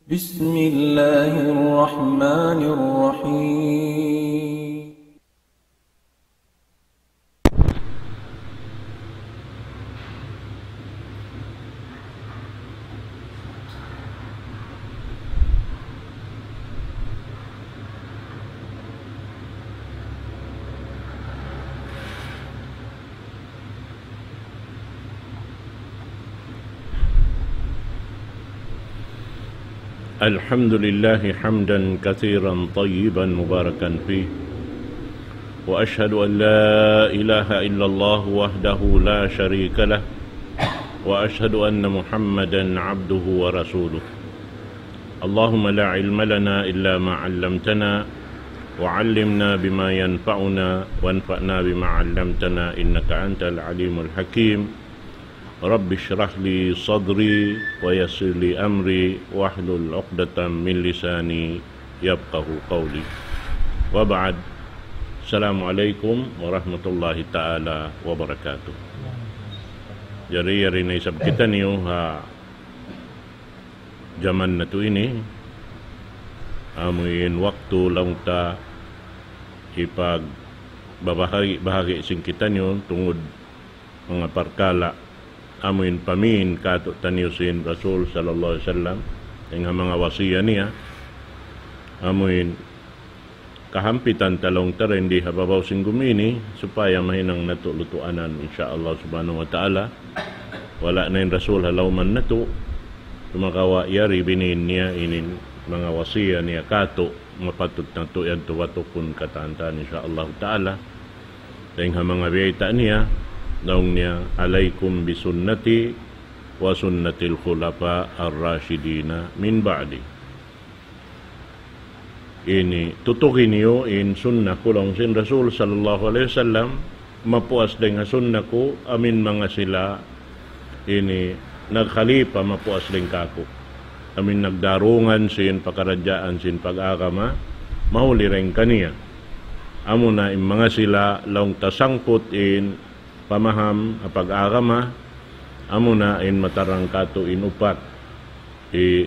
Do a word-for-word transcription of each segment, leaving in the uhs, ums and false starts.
بسم الله الرحمن الرحيم. الحمد لله حمدا كثيرا طيبا مباركا فيه، وأشهد أن لا إله إلا الله وحده لا شريك له، وأشهد أن محمدا عبده ورسوله. اللهم لا علم لنا إلا ما علمتنا، وعلمنا بما ينفعنا، وانفعنا بما علمتنا، إنك أنت العليم الحكيم. رب اشرح لي صدري ويسر لي أمري واحلل عقدة من لساني يفقه قولي. وبعد. السلام عليكم ورحمة الله تعالى وبركاته. Jari, yari na isab kitaniyu ha jaman natu' ini, amuin waktu laung ta hipagbabahagi'-bahagi' sin kitaniyu tungud manga parkala' amuin pamin kātu'niyu sin Rasul sallallahu alayhi wasallam, dayn ha manga wasiya niya, amuin kahampitan ta laung ta dayn di ha babaw sin gumi ini, supaya mahinang natu' lutuanan, insya Allah subhanahu wa ta'ala. Wala' na in Rasul ha lawman natu', sumagawa' yari binin niya inin manga wasiya niya kātu', mapatut natu' yan tubatukun katan-katan, insya Allah ta'ala. Dayn ha manga biyayta' niya, laung niya, عليكم بسنتي وسنة الخلفاء الراشدين من بعدي. Ini, tutuki niyu in sunnah ku laung sin Rasul sallallahu alayhi wasallam, mapuas dayn ha sunnah ku, amuin manga sila ini nagkhalifa mapuas dayn kāku'. Amuin nagdarungan sin pakaradjaan sin pag-agama, mahuli dayn kaniya. Amuna in manga sila laung ta sangkut in pamaham ha pag-agama, amuna in matarang kātu' in upat. Hi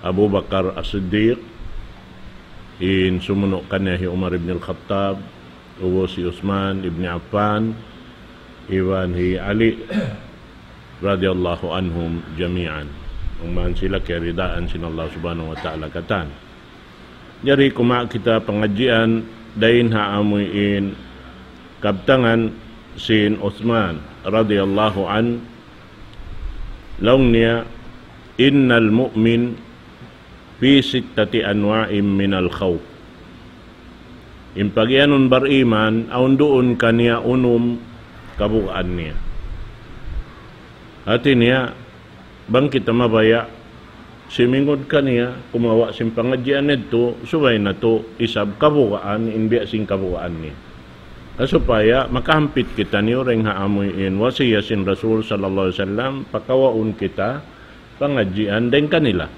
Abu Bakar As-Siddiq, in sumunu' kaniya hi Umar ibn al-Khattab, ubus hi Uthman ibn Affan, iban hi Ali radiyallahu anhum jami'an. Bang man sila kiyaridaan sin Allah subhanahu wa ta'ala katan. Jari kumawa' kita pangadjian dayn ha amuin kabtangan sin Uthman radiyallahu anhu, laung niya, إن المؤمن في ستة أنواع من الخوف. In pagiyanun bariman, awn duun kaniya unum kabugaan niya. Hati niya, bang kita mabaya', simingud kaniya, kumawa' sin pangadjian yadtu, subay natu' isab kabugaan, in biya' sin kabugaan niya. Na supaya makahampit kitaniyu dayn ha amuin wasiya sin Rasul sallallahu alayhi wasallam, pakawaun kita pangadjian dayn kanila.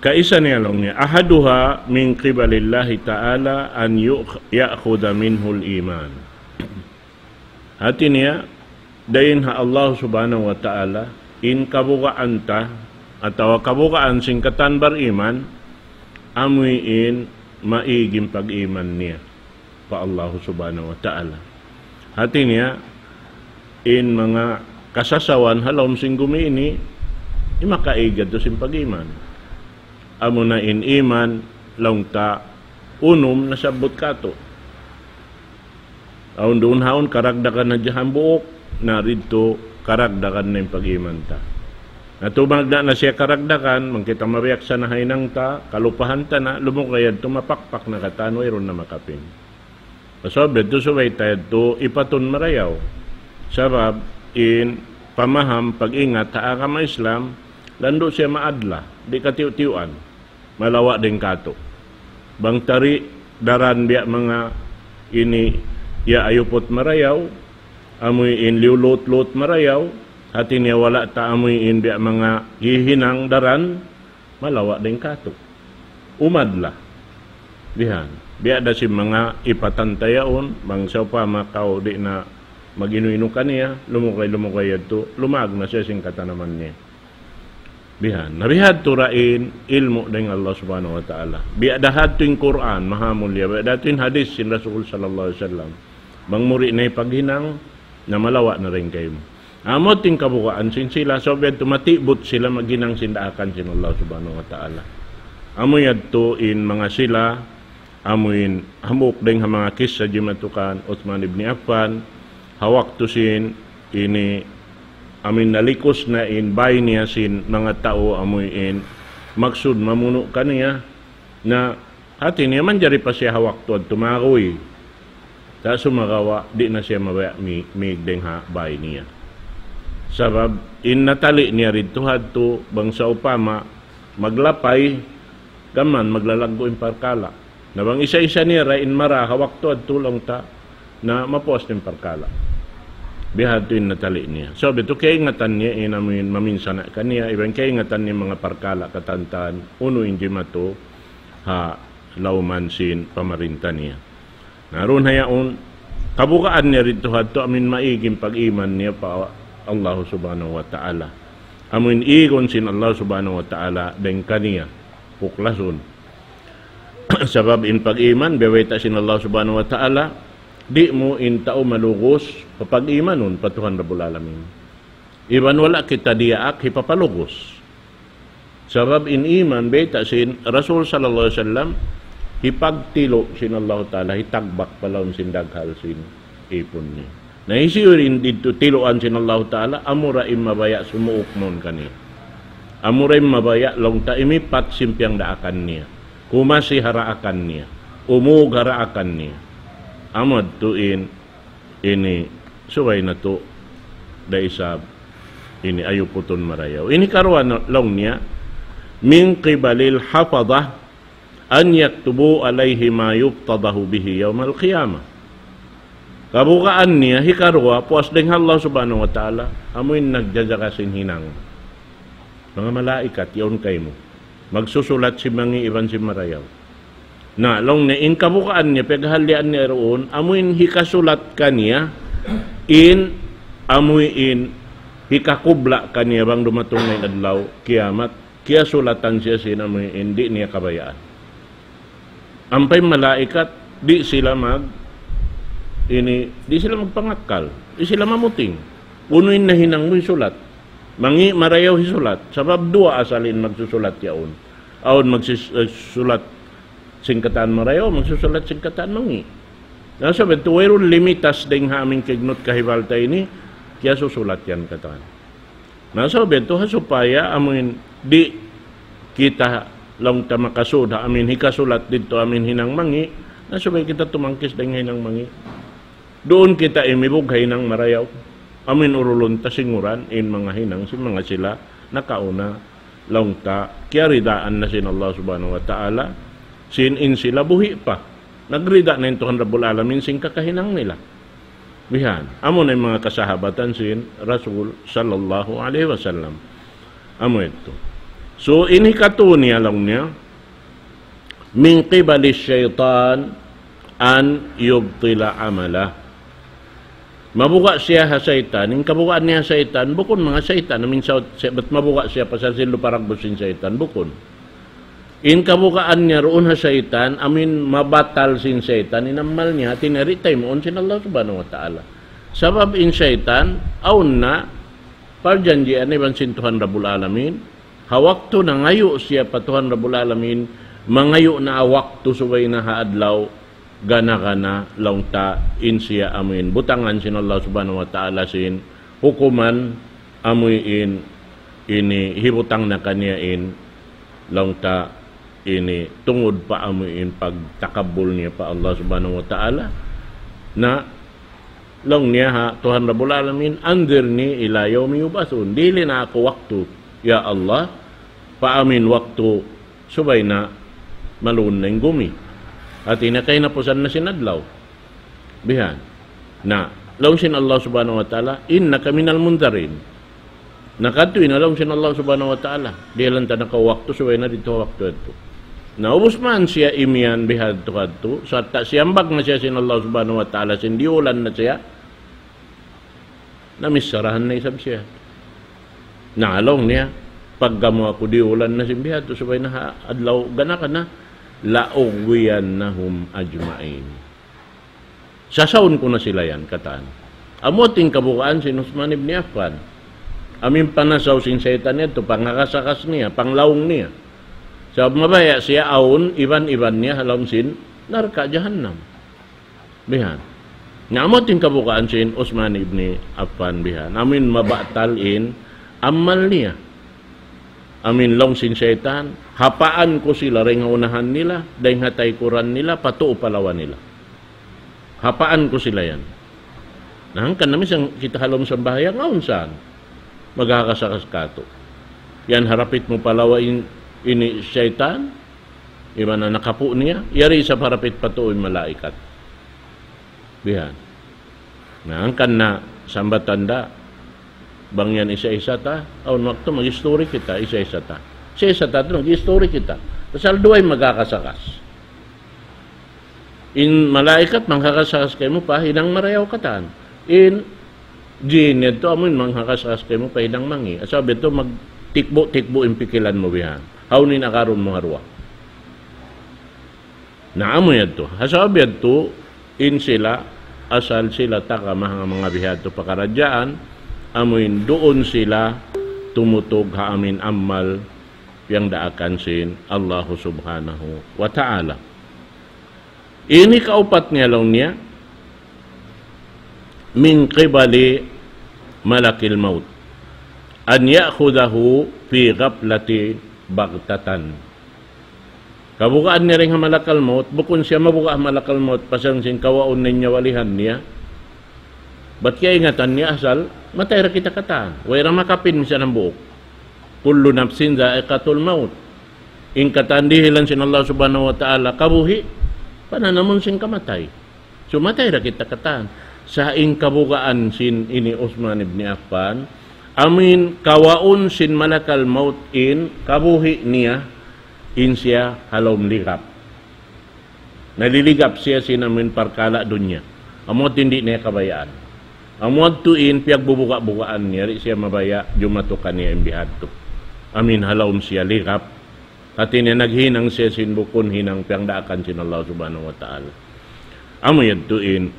Kaisa niya laung niya, أحدها من قبل الله تعالى أن يؤخ-، يأخذ منه الإيمان. Hati niya, dayn ha Allah subhanahu wa ta'ala, in kabugaan ta, atawa kabugaan sin katan bariman, amuin maig in pag-iman niya pa Allah subhanahu wa ta'ala. Hati niya, in manga kasasawan ha lawm sin gumi ini, in makaig yadtu sin pag-iman. Amuna in iman, laung ta, unum nasabbut kātu'. Awn duun ha awn karagdagan hadja hambuuk, na didtu karagdagan na in pag-iman ta. Na tumagna' na siya karagdagan, bang kita mabiyaksa na ha hinang ta, kalupahan ta na, lumugay yadtu mapakpak na katan, wayruun na makapin. Pasal yadtu subay ta yadtu ipatun marayaw. Sabab in pamaham pag-ingat ha agama Islam, landu' siya maadla, di' katiyu'-tiyuan. Malawa' dayn kātu'. Bang tari daran biya' manga ini ya ayuput marayaw, amuin liyu lut-lut marayaw, hati niya wala' ta amuin biya' manga hihinang daran, malawa' dayn kātu'. Umadla. Bihan. Biya' da sin manga ipatan ta yaun, bang sawpama kaw di' na mag-inu-inu kaniya, lumugay-lumugay yadtu, lumag na siya sin katanaman niya. Bihan. Na bihadtu ra in ilmu' dayn ha Allah Subhanahu wa Ta'ala. Biya' da hadtu in Qur'an, maha mulia. Biya' da hadtu in hadith sin Rasul sallallahu alayhi wasallam. Bang mu di' na hipaghinang, na malawa' na dayn kaymu. Amu in kabugaan sin sila, sabab yadtu matibut sila maghinang sin daakan sin Allah Subhanahu wa Ta'ala. Amu yadtu in manga sila, amu in hambuuk dayn ha manga kissa jimatu kan Uthman ibn Affan, ha waktu sin ini amu in nalikus na in bay niya sin manga tau amu in maksud mamunu' kaniya, na hati niya manjari pa siya ha waktu yadtu maguy. Sa' sumagawa', di' na siya mabaya' mi-, mīg dayn ha bay niya. Sabab, in natali niya didtu hadtu, bang sawpama, maglapay, gām maglalaggu' in parkala'. Na bang isa-isa niya ra in mara ha waktu yadtu laung ta, na mapuas in parkala'. Bihadtu in natali niya. Sabab yadtu kaingatan niya, in amu in maminsana' kaniya, iban kaingatan niya manga parkala' katantan, unu in jimatu, ha lawm sin pamarinta niya. Na duun ha yaun, kabugaan niya didtu hadtu amu in maig in pag-iman niya pa Allah Subhanahu wa Ta'ala. Amu in igun sin Allah Subhanahu wa Ta'ala dayn kaniya, puklasun. Sabab in pag-iman, biya' bayta' sin Allah Subhanahu wa Ta'ala, di' mu in tau malugus, papag-imanun pa Tuhan Rabbul Alamin. Iban wala' kita diyaak hipapalugus. Sabab in iman, bayta' sin Rasul sallallahu alayhi wasallam, hipagtilu' sin Allah Ta'ala, hitagbak pa lawm sin daghal sin ipun niya. Na hisiyu in didtu tiluan sin Allah Ta'ala, amura in mabaya' sumuuk mawn kaniya. Amura in mabaya' laung ta imipat sin piyagdaakan niya. Kumasi ha daakan niya. Umug ha daakan niya. Amu yadtu in ini subay natu' da isab ini ayuputun marayaw. Ini karuwa na-, laung niya, من قبل الحفظة أن يكتبوا عليه ما يفتضح به يوم القيامة. Kabugaan niya, hikaruwa, puas dayn ha Allah Subhanahu wa Ta'ala, amu in nagjajaga sin hinang. Manga malaikat, yaun kaymu. Magsusulat sin mangi' iban sin marayaw. Na, laung niya, in kabugaan niya, piyaghallian niya duun, amu in hikasulat kaniya, in, amu in hikakubla' kaniya bang dumatung na in adlaw kiyamat, kiyasulatan siya sin amu in di' niya kabayaan. Ampa in malaikat, di' sila mag-, ini, di' sila magpangakkal, di' sila mamuting. Unu in nahinang mu hisulat. Mangi' marayaw hisulat. Sabab duwa asal in magsusulat yaun. Awn magsis-, eh, sulat sin katan marayaw, magsusulat sin katan mangi'. Na sabab yadtu wayruun limitas dayn ha amu in kiyagnut kahibal ta ini, kiyasusulat yan katan. Na sabab yadtu ha supaya amu in di' kita laung ta makasud ha amu in hikasulat didtu amu in hinang mangi', na subay kita tumangkis dayn ha hinang mangi'. Duun kita imibug ha hinang marayaw. Amu in urulun ta singuran in manga hinang sin manga sila nakauna laung ta kiyaridaan na sin Allah Subhanahu wa Ta'ala sin in sila buhi' pa. Nagrida na in Tuhan Rabbul Alamin sin kakahinang nila. Bihan. Amu na in manga kasahabatan sin Rasul sallallahu alayhi wasallam. Amu yadtu. So, in hikatu niya laung niya, من قبل الشيطان أن يبطل عمله. Mabuga' siya ha saytan, in kabugaan niya ha saytan, bukun manga saytan, amu in saut, sa-, bat mabuga' siya pasal sin lupa ragbus sin saytan, bukun. In kabugaan niya duun ha saytan, amu in mabatal sin saytan, in amal niya, hati niya di' taymaun sin Allah Subhanahu wa Ta'ala. Sabab in saytan, awn na, parjanjian iban sin Tuhan Rabbul Alamin, ha waktu nangayu' siya pa Tuhan Rabbul Alamin, mangayu' na ha waktu subay na ha adlaw, gana-gana laung ta in siya amu in butangan sin Allah Subhanahu wa Ta'ala sin hukuman amu in ini hibutang na kaniya in laung ta ini tungud pa amu in pagtakabbul niya pa Allah Subhanahu wa Ta'ala. Na laung niya ha Tuhan Rabbul Alamin, أنظرني إلى يوم يبعثون. Dihili na aku waktu, ya Allah, pa amu in waktu subay na maluun na in gumi. Hati niya kahinapusan na sin adlaw. Bihan. Na, laung sin Allah Subhanahu wa Ta'ala, إنك من المنظرين. Na kadtu in laung sin Allah Subhanahu wa Ta'ala. Dihilan ta na kaw waktu, subay na didtu waktu yadtu. Na ubus man siya imiyan bihadtu kadtu, sarta' siyambag na siya sin Allah Subhanahu wa Ta'ala, sin diyulan na siya. Na missarahan na isab siya. Na laung niya, Pagga mu aku diyulan na sin biya' hādtu, subay na ha adlaw gana-gana, لأغوينهم أجمعين. Sasaun ku na sila yan, katan. Amu in kabugaan sin Uthman ibn Affan. Amu in panasaw sin saytan yadtu, panghakas-hakas niya, panglaung niya. Sabab mabaya' siya awn iban-iban niya ha lawm sin narka' jahannam. Bihan. Na amu in kabugaan sin Uthman ibn Affan bihan. Amu in mabatal in amal niya. Amu in laung sin saytan, hapaan ku sila dayn ha unahan nila, dayn ha taykuran nila, pa tuu pa lawa nila. Hapaan ku sila yan. Na hangkan na minsan kita ha lawm sambahayang, awn saan maghakas-hakas katu'. Yan harapit mu pa lawa in, ini saytan, iban na nakapu' niya, yari isab harapit pa tuu in malaikat. Bihan. Na hangkan na sambatan da, bang yan isa-isa ta, awn waktu mag-history kita, isa-isa ta. Isa-isa ta, mag-history kita. Pasal duwa in maghakas-hakas. In malaikat manghakas-hakas kaymu pa hinang marayaw katan. In jin yadtu amu in manghakas-hakas kaymu pa hinang mangi'. Sabab yadtu magtikbu'-tikbu' in pikilan mu bihan. Hawnu in agarun mu ha duwa. Na amu yadtu. Ha sabab yadtu, in sila, asal sila taga manga, manga biha' yadtu pakaradjaan, amu in duun sila tumutug ha amu in amal piyangdaakan sin Allahu Subhanahu wa Ta'ala. Ini kaupat niya laung niya, من قبل ملك الموت أن يأخذه في غفلة بغتة. Kabugaan niya dayn ha malakal maut, bukun siya mabuga' ha malakal maut, pasal sin kawaun na in nyawa-lihan niya. Bat kiyaingatan niya asal, matay ra kita katan. Way ra makapin misan hambuuk. كل نفس ذائقة الموت. In katan dihilan sin Allah Subhanahu wa Ta'ala kabuhi', pananamun sin kamatay. So, matay ra kita katan. Sa' in kabugaan sin ini Uthman ibn Affan, amu in kawaun sin malakal maut in kabuhi' niya, in siya ha lawm ligap. Naliligap siya sin amu in parkala' dunya. Amu yadtu in di' niya kabayaan. Amu yadtu in piyagbubuga'-bugaan niya, di' siya mabaya' jumatu kaniya in biha' yadtu. Amu in ha lawm siya ligap. Hati niya naghinang siya sin bukun hinang piyangdaakan sin Allah Subhanahu wa Ta'ala. Amu yadtu in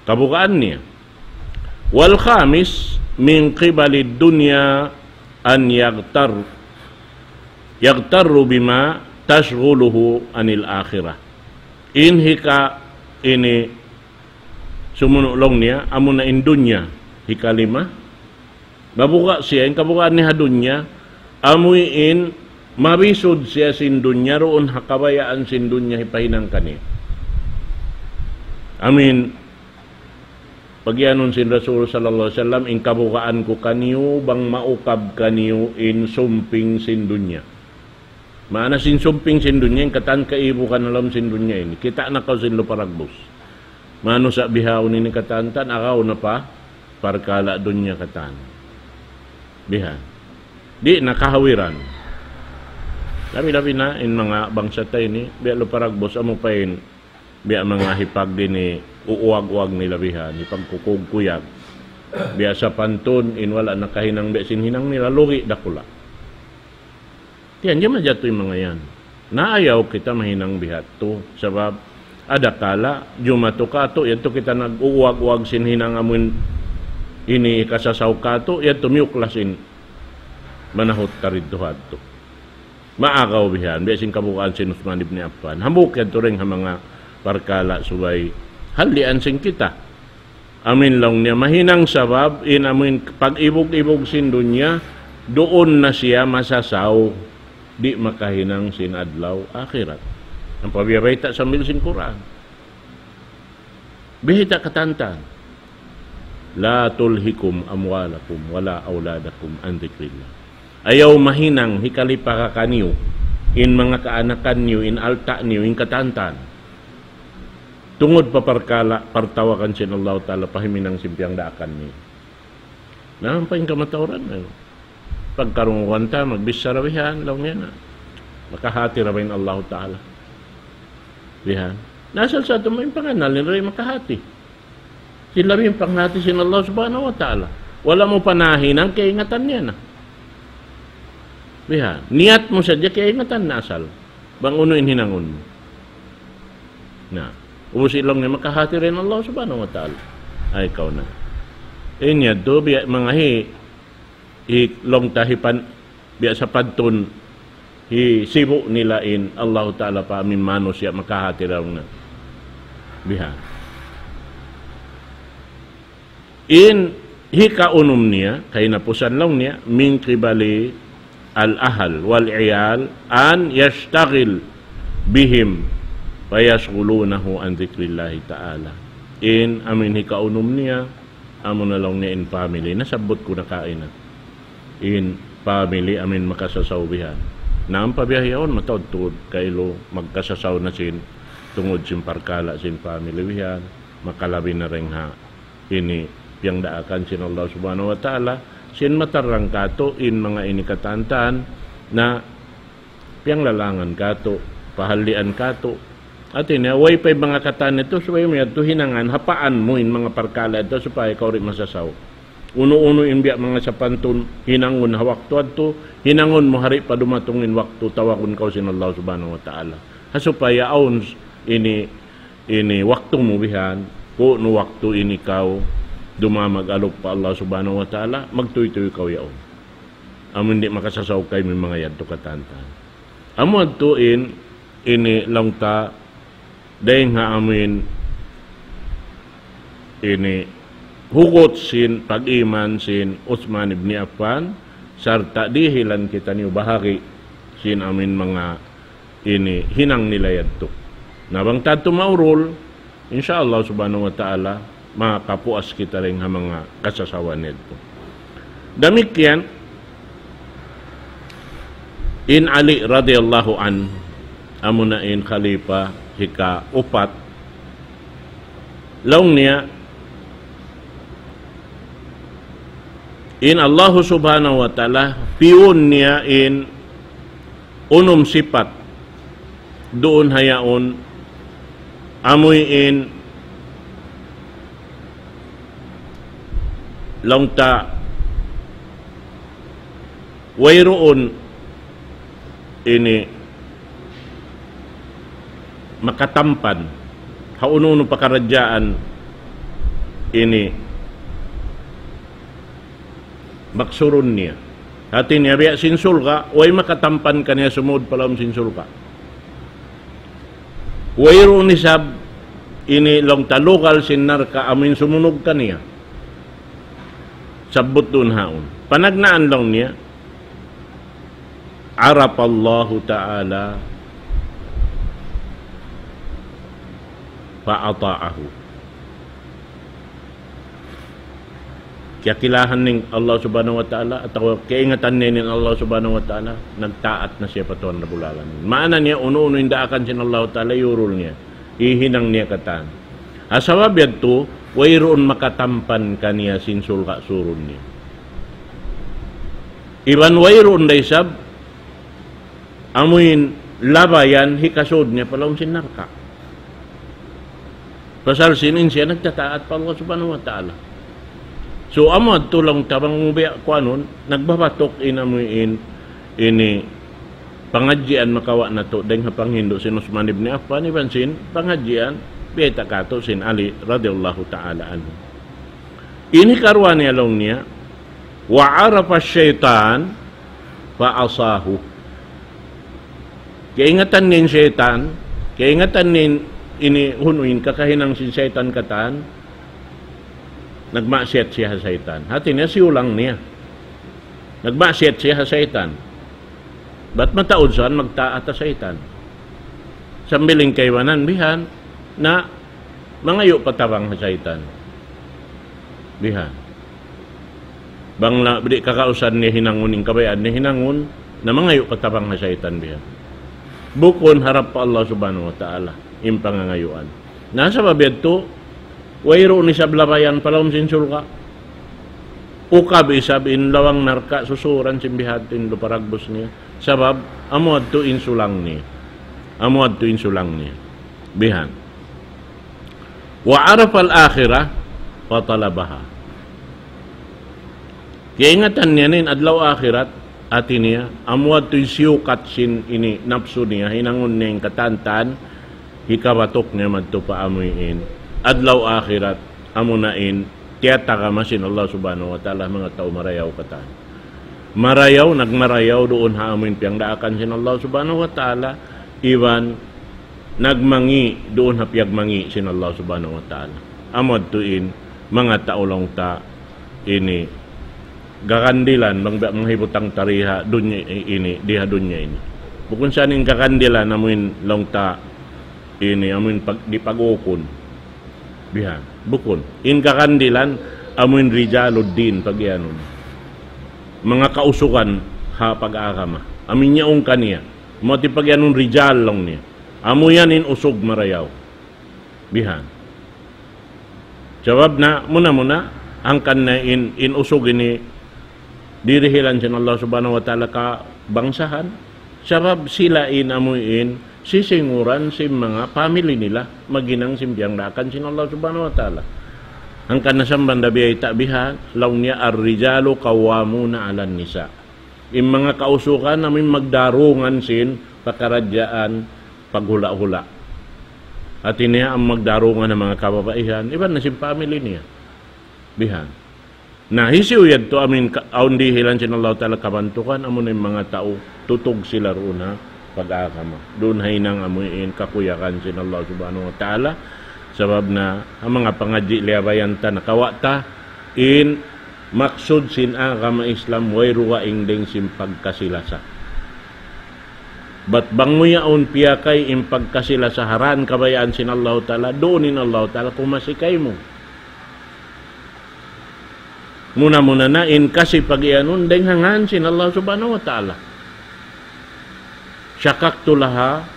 kabugaan niya. والخامس من قبل الدنيا أن يغتر، يغتر بما تشغله عن الآخرة. In hika ini sumunu' laung niya, amuna in dunya, hikalima. Mabuga' siya, in kabugaan niya ha dunya, amu in mabisud siya sin dunya, duun ha kabayaan sin dunya hipahinang kaniya. Amu in pagiyanun sin Rasul sallallahu alayhi wasallam, in kabugaan ku kaniyu, bang maukab kaniyu in sumping sin dunya. Maana sin sumping sin dunya, in katan kaibugan ha lawm sin dunya ini. Kita' na kaw sin lupa dagbus. Manusa' bihaun ini katan-katan, agaw na pa parkala' dunya katan. Biha'. Di' na kahawiran. Labi-labi na in manga bangsa ta ini, biya' lupa dagbus, amu pa in biya' manga hipag ini, uuwag-uwag nila biha', hipagkukuyag-kuyag. Biya' sapantun, in wala' nakahinang biya' sin hinang nila, lugi' dakula'. Tiyan, di' majatu in manga yan. Na ayaw kita mahinang biha' yadtu. Sabab, adakala, jumatu katu', yadtu kita nag-uuwag-uwag sin hinang amun ini kasasaw katu', yadtu miyuklas in manahut ta didtu ha yadtu. Maagaw bihan, biya' sin kabugaan sin Uthman ibn Affan. Hambuuk yadtu dayn ha manga parkala' subay hallian sin kita. Amin laung niya, mahinang sabab in amin pag-ibug-ibug sin dunya, duun na siya masasaw, di' makahinang sin adlaw akhirat. Ampa biya' bayta' sambil sin Qur'an. Bihita katantan. لا تلهكم أموالكم ولا أولادكم عن ذكر الله. Ayaw mahinang hikalipa kaniyu, in manga kaanakan niyu, in alta' niyu, in katantan. Tungud pa parkala', partawagan sin Allah Ta'ala, pa himinang sin piyangdaakan niyu. Na, ampa in kamatauran, ayu. Pagkarungugan ta, magbichara bihan, laung niya na. Makahati ra ba in Allahu Ta'ala? Bihan. Na asal sa tuud in pangannal, in ra makahati. Sin labi in panghati sin Allah Subhanahu wa Ta'ala. Wala' mu pa nahinang, kaingatan niya na. Biha, niyat mu sadja, kaingatan na asal bang unu in hinangun mu. Na, ubus laung niya makahati in Allah Subhanahu wa Ta'ala. Ay, kaw na. In yadtu, biya' manga hi, hi laung ta hi pan, biya' sapantun, hi sibu' nila in Allah Ta'ala pa amin manusiya' makahati laung na. Biha. In hikaunum niya, kahinapusan laung niya, من قبل الأهل والعيال أن يشتغل بهم فيشغلونه عن ذكر الله تعالى. In amin hikaunum niya, amu na laung niya in family. Nasabbut ku na kaina. In family amin makasasaw bihan. Na ampa biya' yaun mataud-taud kailu magkasasaw na sin tungud sin parkala' sin family bihan. Makalabi na dayn ha ini piyangdaakan sin Allah Subhanahu wa Ta'ala, sin matarrang katu' in manga ini katan-katan na piyanglalangan katu', pahallian katu'. Hati niya, way pa in manga katan yadtu, subay mu yadtu hinangan, hapaan mu in manga parkala' yadtu, supaya kaw di' masasaw. Unu-unu in biya' manga sapantun, hinangun ha waktu yadtu, hinangun mu ha di' pa dumatung in waktu, tawagun kaw sin Allah Subhanahu wa Ta'ala. Ha supaya awn ini ini waktu mu bihan, kunu' waktu ini kaw dumamag alup pa Allah Subhanahu wa Ta'ala, magtuytuy kaw yaun. Amun di' makasasaw kaymu in manga yadtu katan-katan. Amu yadtu in, ini laung ta, dayn ha amin, ini hugut sin pag-iman sin Uthman ibn Affan, sarta' dihilan kitaniyu bahagi' sin amin manga ini hinang nila yadtu. Na bang ta yadtu maurul, insya Allah Subhanahu wa Ta'ala, makapuas kita dayn ha manga kasasawan yadtu. Damikkiyan, in Ali radiyallahu anhu, amuna in khalifa hikaupat, laung niya, in Allah Subhanahu wa Ta'ala, piyun niya in unum sipat duun ha yaun, amuin laung ta wayruun ini makatampan ha unu-unu pakaradjaan ini maksurun niya. Hati niya biya' sin surga', way makatampan kaniya sumud pa lawm sin surga'. Wayruun isab ini laung ta lugal sin narka' amuin sumunug kaniya. Sabbut duun haun. Panagnaan laung niya, عرف الله تعالى فأطاعه. Kiyakilahan niya in Allah Subhanahu wa Ta'ala, atawa kiyaingatan niya in Allah Subhanahu wa Ta'ala, nagtaat na siya pa Tuhan Rabbul Alamin. Maana niya, unu-unu in daakan sin Allah Ta'ala, iyurul niya. Hihinang niya katan. Ha sabab yadtu, wayruun makatampan kaniya sin surga' surun niya. Iban wayruun da isab, amuin labayan hikasud niya pa lawm sin narka'. Pasal sin in siya nagtataat pa Allah Subhanahu wa Ta'ala. So, amu yadtu laung ta bang mu biya' kuanun, nagbabatuk in amuin ini pangadjian makawa' natu' dayn ha panghindu' sin Uthman ibn Affan, iban sin pangadjian biyayta' katu' sin Ali radiyallahu ta'ala anhu. Ini karuwa niya laung niya, وعرف الشيطان فعصاه. Kaingatan niya in saytan, kaingatan niya in ini unu in kakahinang sin saytan katan, nagmaksiyat siya ha saytan. Hati niya siyulang niya. Nagmaksiyat siya ha saytan. Bat mataud sa magtaat ha saytan. Sambil in kaibanan bihan, na mangayu' pa tabang ha saytan. Bihan. Bang la, di' kakausan niya hinangun, in kabayaan niya hinangun, na mangayu' pa tabang ha saytan bihan. Bukun harap pa Allah Subhanahu wa Ta'ala, in pangangayuan. Na sabab yadtu, wayruun isab labayan pa lawm sin surga'. Ukab isab in lawang narka' susuran sin bihadtu in luparagbus niya. Sabab, amu yadtu in sulang niya. Amu yadtu in sulang niya. Bihan. وعرف الآخرة فطلبها. Kaingatan niya in adlaw akhirat, Hati niya, amu yadtu in siyukat sin ini napsu niya, hinangun niya in katan-katan, hikabatuk niya madtu pa amuin adlaw akhirat, amuna in tiyatagama sin Allah Subhanahu wa Ta'ala, manga tau marayaw katan. Marayaw, nagmarayaw duun ha amuin piyangdaakan sin Allah Subhanahu wa Ta'ala, iban nagmangi' duun ha piyagmangi' sin Allah Subhanahu wa Ta'ala. Amu yadtu in manga tau laung ta ini garandilan bang, bang hibutang ta di ha dunya ini, di ha dunya ini. Bukun sa in garandilan amuin laung ta ini, amuin pag, di pag-ukun. Bihan. Bukun. In garandilan amuin rijaluddin pagiyanun. Manga kausugan ha pag-agama. Amuin yaun kaniya. Amu yadtu in pagiyanun rijal laung niya. Amu yan in usug marayaw. Bihan. Sabab na, muna-muna, hangkan na in, in usug ini dirihilan sin Allah Subhanahu wa Ta'ala kabangsahan. Sabab sila in amuin sisinguran sin manga family nila, maghinang sin piyangdaakan sin Allah Subhanahu wa Ta'ala. Hangkan na samban da biya' ta bihan, laung niya, الرجال قوامون على النساء. In manga kausugan amuin magdarungan sin pakaradjaan paghula'-hula'. Hati niya amu magdarungan ha manga kababaihan, iban na sin family niya. Bihan. Na, hisiyu yadtu amuin ka, awn dihilan sin Allah Ta'ala kabantukan, amuna in manga tau tutug sila duun ha pag-agama. Duun ha hinang amuin kakuyagan sin Allah Subhanahu wa Ta'ala. Sabab na, ha manga pangadji' liyabayan ta, nakawa' ta, in maksud sin agama Islam, way dugaing dayn sin pagkasi-lasa. Bat bang mu yaun piyakay in pagkasi-lasa ha dan kabayaan sin Allah Ta'ala, duun in Allah Ta'ala kumasi kaymu. Muna-muna na in kasi pagiyanun dayn ha ngan sin Allah Subhanahu wa Ta'ala. شققت لها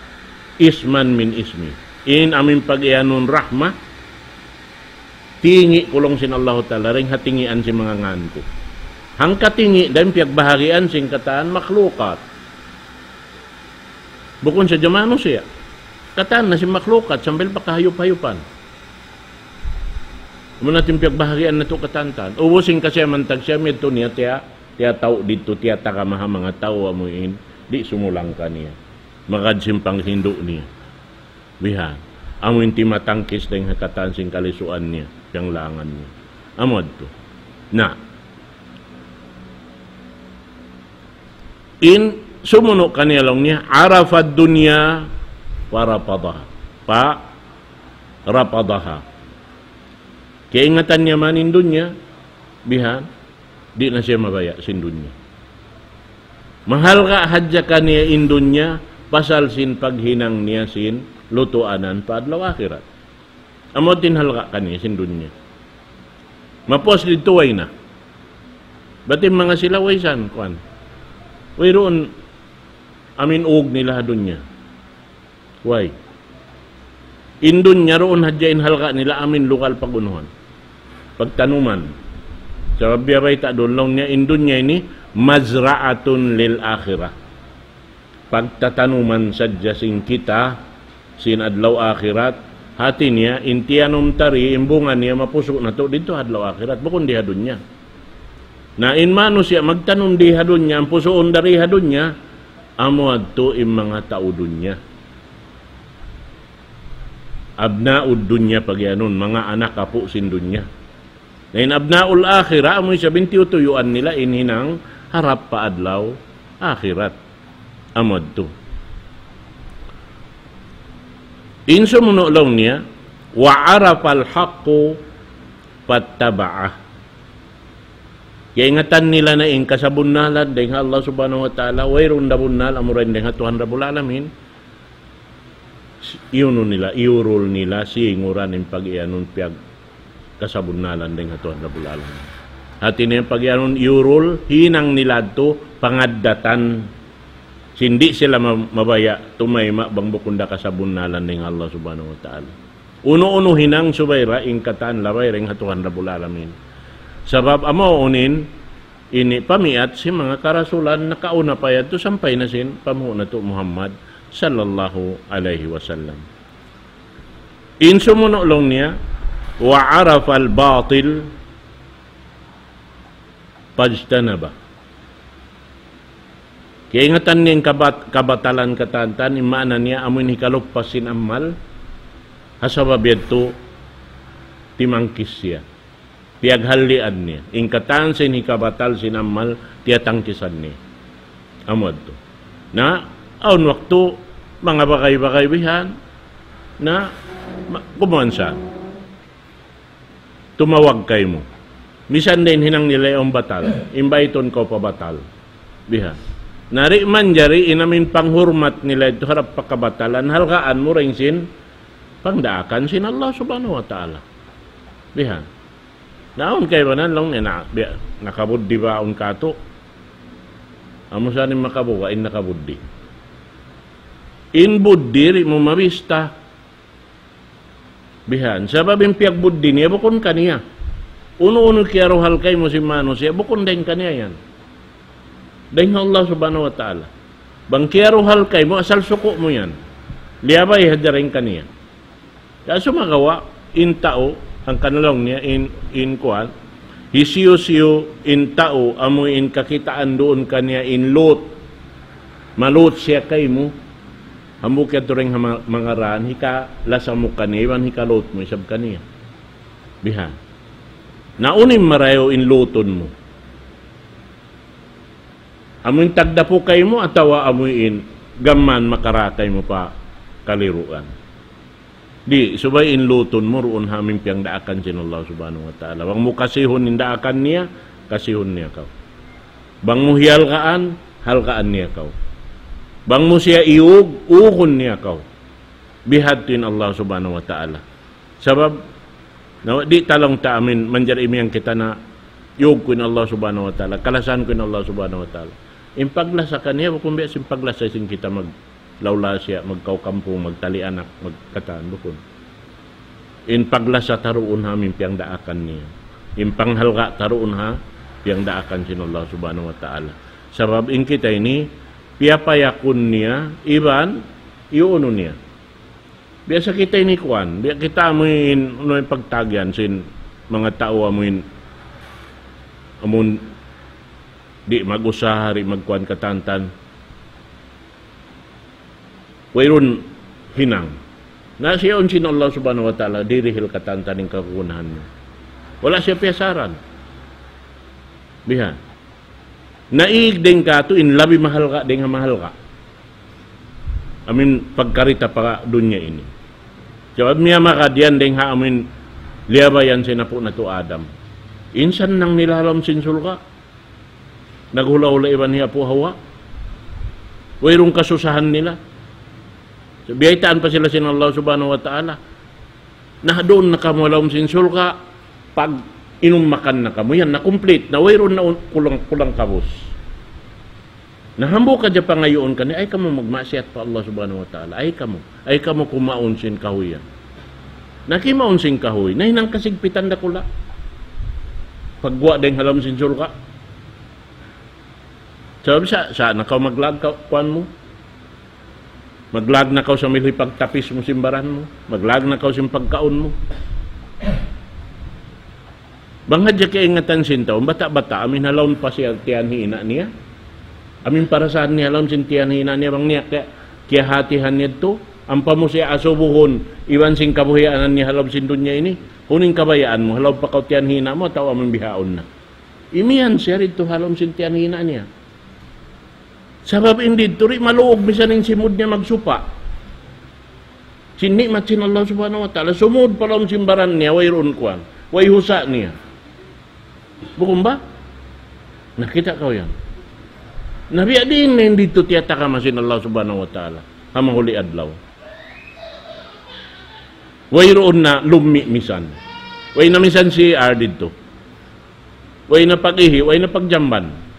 اسما من اسمي. In amuin pagiyanun rahma, tingi' ku laung sin Allah Ta'ala, dayn ha tingian sin manga ngan ku. Hangka tingi', dayn piyagbahagian sin katan makhlukat. Bukun sadja manusiya'. Katan na sin makhlukat, sambil pa kahayup-hayupan. Amu na in piyagbahagian natu' katan-katan. Ubus in kasiyaman tagsiyam yadtu niya tiya, tiyatau' didtu, tiyatagama ha manga tau amuin di' sumulang kaniya. Magad sin panghindu' niya. Bihan. Amuin timatangkis dayn ha katan sin kalisuan niya, piyanglangan niya. Amu yadtu. Na. In sumunu' kaniya laung niya, عرف الدنيا فرفضها. Pa, رفضها. Kaingatan niya man in dunya, bihan, di' na siya mabaya' sin dunya. Mahalga' hadja kaniya in dunya, pasal sin paghinang niya sin lutuanan pa adlaw akhirat. Amu in halga' kaniya sin dunya. Mapuas didtu way na. Bat in manga sila way san, kuwan. Wayruun amuin ug nila ha dunya. Way. In dunya duun hadja in halga' nila amuin lugal pag-unuhan. Pagtanuman. Sabab biya' bayta' duun laung niya in dunya ini مزرعة للآخرة. Pagtatanuman sadja sin kita, sin adlaw akhirat, hati niya, in tiyanum ta di, in bunga niya, mapusu' natu' didtu adlaw akhirat, bukun di ha dunya. Na in manusiya' magtanum di ha dunya, in pusuun da di ha dunya, amu yadtu in manga tau dunya. Abnaud dunya pagiyanun, manga anak apu' sin dunya. Na in abnaul akhirah, amu isab in tiyutuyuan nila in hinang harap pa adlaw akhirat. Amu yadtu. In sumunu' laung niya, وعرف الحق فاتبعه. Kaingatan nila na in kasabunnalan dayn ha Allah Subhanahu wa Ta'ala, wayruun da bunnal amura in dayn ha Tuhan Rabbul Alamin. Iyunu nila, iyurul nila, singuran in pag-iyanun piyag kasabunnalan dayn ha Tuhan Rabbul Alamin. Hati niya pag-iyanun iyurul, hinang nila yadtu pangaddatan. Sin di' sila ma-, mabaya' tumayma' bang bukun da kasabunnalan dayn ha Allah Subhanahu wa Ta'ala. Unu-unu hinang subay da in katan labay dayn ha Tuhan Rabbul Alamin. Sabab amu unu in ini pamiyat sin manga karasulan nakauna pa yadtu sampay na sin panghu' natu' Muhammad sallallahu alayhi wasallam. In sumunu' laung niya, وعرف الباطل فاجتنبه. Kaingatan niya in kabat-, kabatalan katan-katan, in maana niya amu in hikaluppas sin amal, ha sabab yadtu timangkis siya. Piyaghallian niya. In katan sin hikabatal sin amal, tiyatangkisan niya. Amu yadtu. Na, awn waktu, manga bagay-bagay bihan, na, ma-, kumuan sa. Tumawag kaymu. Misan da in hinang nila yaun batal. Imbaytun kaw pa batal. Bihan. Na di' manjari in amu in panghurmat nila yadtu harap pa kabatalan, halgaan mu dayn sin pangdaakan sin Allah Subhanahu wa Ta'ala. Bihan. Na awn kaibanan laung niya na, biya', nakabuddi ba awn katu'? Amu sa in makabuga', in nakabuddi. In buddi, di' mu mabista. Bihan, sabab in piyagbuddi niya bukun kaniya. Unu-unu kiyaruhal kaymu sin manusiya', bukun dayn kaniya yan. Dayn ha Allah Subhanahu wa Ta'ala. Bang kiyaruhal kaymu, asal suku' mu yan. Liyabay hadja dayn kaniya. Kaya sumagawa', in tau, hangkan laung niya, in, in kuwan, hisiyu-siyu in tau, amu in kakitaan duun kaniya in lut. Malut siya kaymu. Hambuuk yadtu dayn ha ma-, manga raan, hikalasa mu kaniya, iban hikalut mu isab kaniya. Bihan. Na unu in marayaw in lutun mu? Amu in tagdapu kaymu atawa amu in gam mayan makara kaymu pa kaliruan? Di', subay in lutun mu duun ha amu in piyangdaakan sin Allah Subhanahu wa Ta'ala. Bang mu kasihun in daakan niya, kasihun niya kaw. Bang mu hihalgaan, halgaan niya kaw. Bang mu siya iyug, ugun niya kaw. Bihadtu in Allah Subhanahu wa Ta'ala. Sabab, na, di' ta laung ta amu in manjari imiyan kita na iyug ku in Allah Subhanahu wa Ta'ala, kalasahan ku in Allah Subhanahu wa Ta'ala. In paglasa kaniya, bukun biya' sin paglasa sin kita mag-, laula siya, magkaukampung, magtali anak, magkatan, bukun. In paglasa ta duun ha amu in piyangdaakan niya. In panghalga' ta duun ha piyangdaakan sin Allah Subhanahu wa Ta'ala. Sabab in kita ini, piyapayakun niya, iban, iyuunu niya. Biya' sa kita ini kuwan, biya' kita amu in, unu in pagtagihan sin manga tau amu in, amun di' mag-usaha, di' magkuwan katan-katan. Wayruun hinang. Na siya yaun sin Allah Subhanahu wa Ta'ala, dirihil katan-katan in kagunahan niya. Wala' siya piyasaran. Bihan. Naig dayn katu' in labi mahalga' dayn ha mahalga'. Amu in pagkarita pa dunya ini. Sabab niya makadiyan dayn ha amu in liyabayan sin apu' natu' Adam. In sannang nila ha lawm sin surga'. Naghula'-hula' iban hi Apu' Hawa. Wayruun kasusahan nila. So, biyaytaan pa sila sin Allah Subhanahu wa Ta'ala. Na duun na kamu ha lawm sin surga', pag-inum makan na kamu. Yan, na complete. Na wayruun na un-, kulang, kulang kabus. Na hambuuk hadja pangayuun kaniya, ayaw kamu magmaksiyat pa Allah Subhanahu wa Ta'ala. Ayaw kamu. Ayaw kamu kumaun sin kahuy yan. Na kimaun sin kahuy, nahinang kasigpitan dakula'. Pagguwa' dayn ha lawm sin surga'. Sabab sa, sa' na kaw maglag ka, kuwan mu. Maglag na kaw sambil hipagtapis mu sin baran mu. Maglag na kaw sin pagkaun mu. Bang hadja kaingatan sin tau, bata'-bata', amu in ha lawm pa siya tiyan hi ina' niya. Amu in parasahan niya ha lawm sin tiyan hi ina' niya, bang niya kaya, kiyahatihan niya yadtu, ampa mu siya asubuhun, iban sin kabuhianan niya ha lawm sin dunya ini, unu in kabayaan mu, ha lawm pa kaw tiyan hi ina' mu, atawa amu in bihaun na. Imiyan siya didtu ha lawm sin tiyan hi ina' niya. Sabab in didtu di' maluug misan in simud niya magsupa'. Sin ni'mat sin Allah Subhanahu wa Ta'ala. Sumud pa lawm sin baran niya, wayruun kuwan. Way husa' niya. Bukun ba? Nakita' kaw yan. Na biya' diin na in didtu tiyatagama sin Allah Subhanahu wa Ta'ala. Ha mahuli adlaw. Wayruun na lummi' misan. Way na misan C R didtu. Way na pag-ihi', way na pagjamban.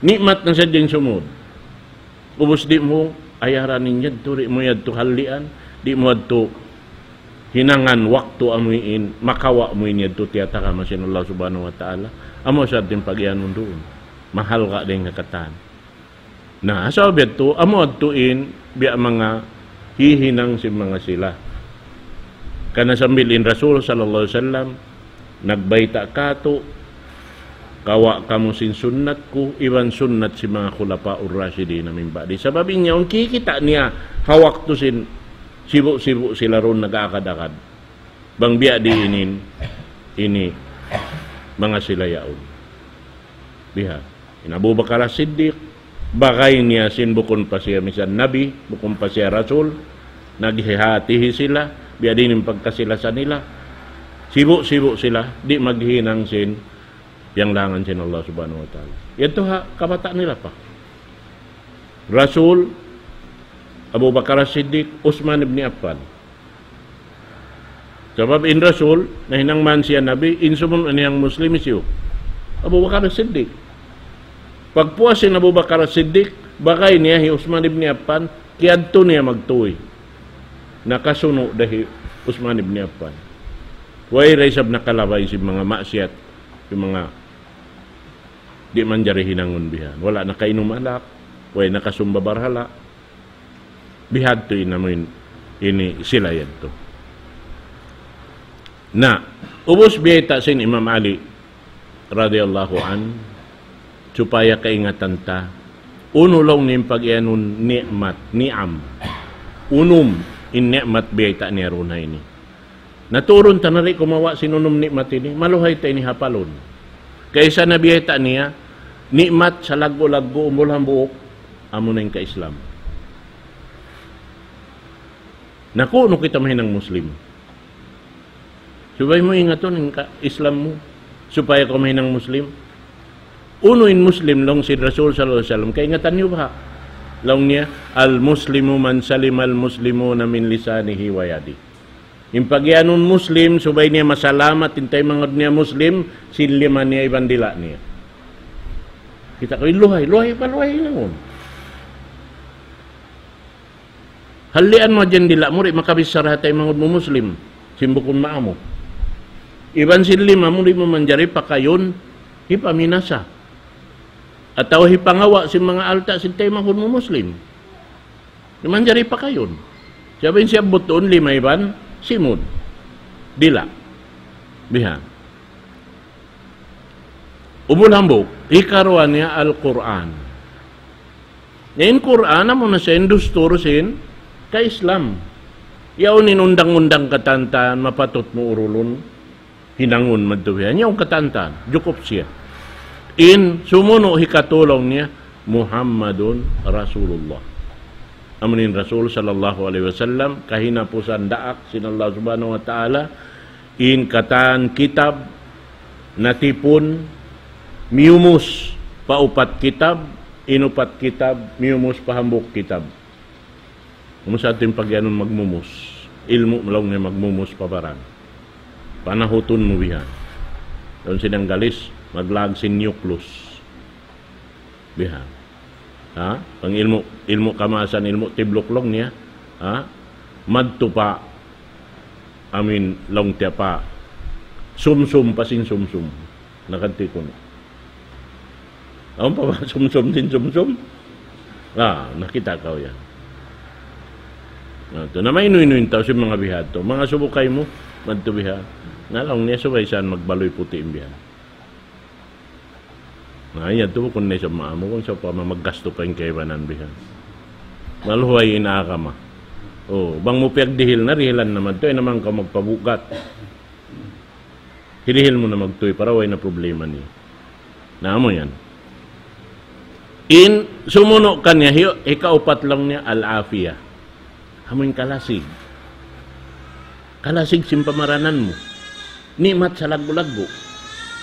Ni'mat na sadja in sumud. Ubus di' mu ayaran in yadtu, di' mu yadtu hallian, di' mu yadtu hinangan waktu amu in, makawa' mu in yadtu tiyatagama sin Allah Subhanahu wa Ta'ala. Amu sa in pag-iyanun duun. Mahalga' dayn ha katan. Na, sabab yadtu, amu yadtu in, biya' manga hihinang sin manga sila. Karna' sambil in Rasul sallallahu alayhi wasallam, nagbayta' katu', Kawa' kamu sin sunnat ku, iban sunnat sin manga khulafaur rashidin min ba'di. Sabab in yaun kikita' niya ha waktu sin sibu'-sibu' sila duun nag-aakad-akad. Bang biya' diin in, ini manga sila yaun. Biha. In Abu Bakar As-Siddiq, bagay niya sin bukun pa siya misan Nabi, bukun pa siya Rasul, naghihatihi sila, biya' diin in pagkasi-lasa nila. Sibu'-sibu' sila, di' maghinang sin piyanglangan sin Allah Subhanahu wa Ta'ala. Yadtu ha, kabata' nila pa. Rasul, Abu Bakar As-Siddiq, Usman ibn Affan. Sabab in Rasul, nahinang man siya Nabi, in sumunut na niyang Muslim hisiyu? Abu Bakar As-Siddiq. Pagpuas sin Abu Bakar As-Siddiq, bagay niya hi Usman ibn Affan, kiyadtu niya magtuy. Nakasunu' da hi Usman ibn Affan. Way da isab nakalabay sin manga maksiyat, sin manga di' manjari hinangun bihan. Wala' nakainum alak, way nakasumba barhala. Bihadtu in amuin ini sila yadtu. Na, ubus biyayta' sin Imam Ali radiyallahu anhu, supaya kaingatan ta, unu laung niya in pag-iyanun ni'mat, ni'am. Unum in ni'mat biyayta' niya duun ha ini. Naturun ta na di' kumawa' sin unum ni'mat ini, maluhay ta ini hapalun. Kaysa na biyayta' niya, ni'mat salaggu'-laggu' umbul hambuuk, amuna in ka-Islam. Na kunu' kita mahinang Muslim. Subay mu ingatun in ka-Islam mu, supaya kaw mahinang Muslim. Unu in Muslim laung sin Rasul sallallahu alayhi wasallam, kaingatan niyu baha'? Laung niya, "Al-Muslimu man salima al-Muslimuna min lisanihi wa yadihi." In pag-iyanun Muslim, subay niya masalamat in taymanghud niya Muslim, sin lima niya iban dila' niya. Kita' kaw in luhay, luhay pa luhay hinangun. Halian mu hadja in dila' mu, di' makabichara ha taymanghud mu Muslim, sin bukun maamu. Iban sin lima mu, di' mu manjari pakayun, hipaminasa. Atawa hipangawa' sin manga alta' sin taymanghud mu Muslim. Di' manjari pakayun. Sabab in siyabbut duun lima iban simud. Dila'. Biha. Umbul hambuuk, hikaruwa niya Al-Qur'an. Na in Qur'an, amuna siya in dustur sin ka-Islam. Yaun in undang-undang katan-katan, mapatut mu urulun, hinangun madtu bihan. Yaun katan-katan, jukup siya. In sumunu' hikatulung niya, Muhammadun Rasulullah. Amun in Rasul sallallahu alayhi wasallam, kahinapusan daak sin Allah Subhanahu wa Ta'ala, in katan kitab natipun miyumus pa upat kitab, in upat kitab miyumus pa hambuuk kitab. Amu sa in pag'iyanun magmumus. Ilmu' laung niya magmumus pa baran. Panahutun mu bihan. Dayn sin Anggalis, maglaag sin nucleus. Bihan. Ha? Bang ilmu', ilmu' kamaasan, ilmu' tibluk laung niya. Ha? Madtu pa, amin, laung tiya pa. Sumsum pa sin sumsum. Nakadtu kunu'. Awn pa ba sumsum sin sumsum? Ah, nakita' kaw yan. Na, tu, na mainu-inu in tau sin manga bihadtu. Manga subukay mu, madtu biha. Na laung niya subay san magbaluy puti' in bihan. Na, iya tu, kunu' na isab maamu, kunu' sa' pa mamagastu pa in kaibanan bihan. Maluhay in agama. Oh, bang mu piyagdihil na, dihilan na madtu, ay naman kaw magpabugat. Hirihil mu na magtuy para way na problema niya. Na amu yan. In sumunu' kaniya, hi-, hikaupat laung niya, al-afiyah. Amu in kalasig. Kalasig sin pamaranan mu. Ni'mat salaggu'-laggu'.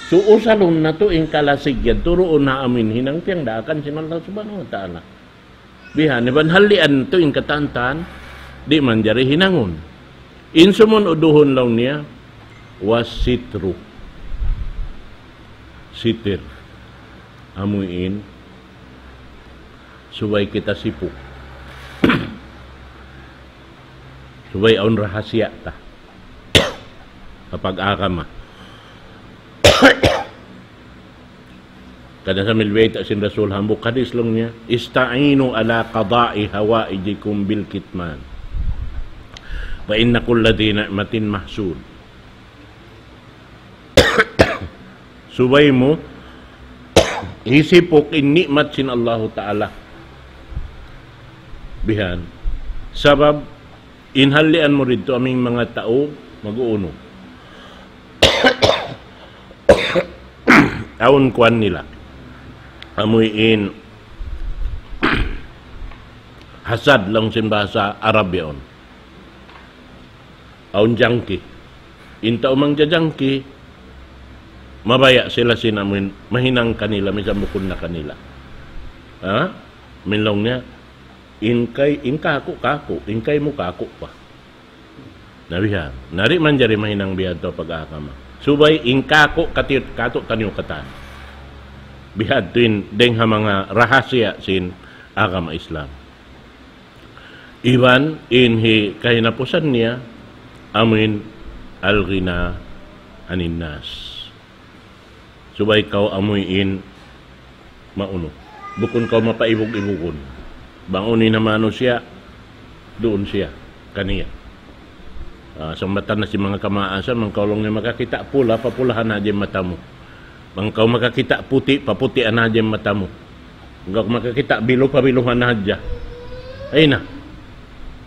So, usalun natu' in kalasig yan, turuun na amin hinang piyangdaakan sin Allah Subhanahu wa Ta'ala. Bihan, iban halian tu in katan-katan, di' manjari hinangun. In sumunu' duhun laung niya, was sitru. Sitir. Amu in, subay kita sipuk. Subay awn rahasiya ta. Ha pag-agama. Karna' sambil biyayta' sin Rasul hambuuk hadis laung niya, "Ista'inu ala qada'i hawaijikum bil kitman. Fa inna kulla dhi ni'matin mahsud." Subay mu Hisipuk in ni'mat sin Allahu Ta'ala. Bihan. Sabab, in halian mu didtu amu in manga tau, mag-uunu. Awn kuwan nila. Amu in hasad laung sin bahasa Arab yaun. Awn jangki. In tau mangjajangki, mabaya' sila sin amu in mahinang kanila, misan bukun na kanila. Ha? Amu in laung niya, in kay, in kāku', kāku', in kaymu kāku' pa. Na bihan. Na di' manjari mahinang biya' ha pag-agama. Subay in kāku' kati-, kātu'niyu katan. Bihan tuud in dayng ha manga rahasiya sin agama Islam. Iban in hikahinapusan niya, amu in al-ghina anin nas. Subay kaw amu in maunu. Bukun kaw mapaibug-ibugun. Bang unu in ha manusiya', duun siya, kaniya. Ah, sambatan na sin manga kamaasan, bang kaw laung niya makakita' pula, papulahan hadja in mata mu. Bang kaw makakita' puti', paputian hadja in mata mu. Bang kaw makakita' bilu, pabiluhan hadja. Ay na.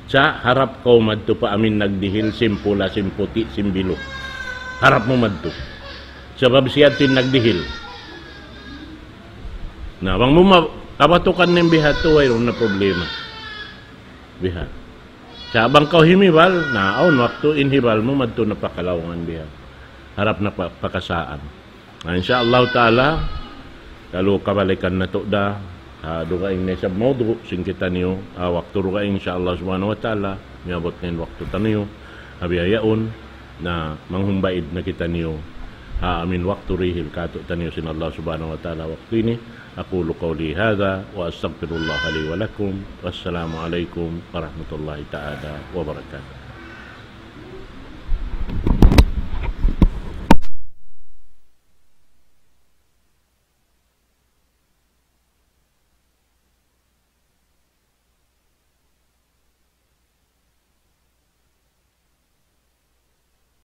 Sa' harap kaw madtu pa amu in nagdihil, sin pula, sin puti', sin bilu. Harap mu madtu. Sabab siya in nagdihil. Na, bang mu ma-, kabatukan in biha' tu, wayruun na problema. Biha'. Sa' bang kaw himibal, na, awn waktu in hibal mu madtu na pa kalaungan biha'. Harap na pa, pa kasaan. Na, insya Allah Ta'ala, kalu kabalikan natu' da, ha, dugaing na isab mawdu', sin kitaniyu, ha, waktu dugaing, insya Allah Subhanahu wa Ta'ala, miyabut na in waktu taniyu, ha, biya' yaun, na manghumbaid na kitaniyu, ha, amu in waktu dihil kātu'niyu sin Allah Subhanahu wa Ta'ala waktu ini. أقول قولي هذا وأستغفر الله لي ولكم. والسلام عليكم ورحمة الله تعالى وبركاته.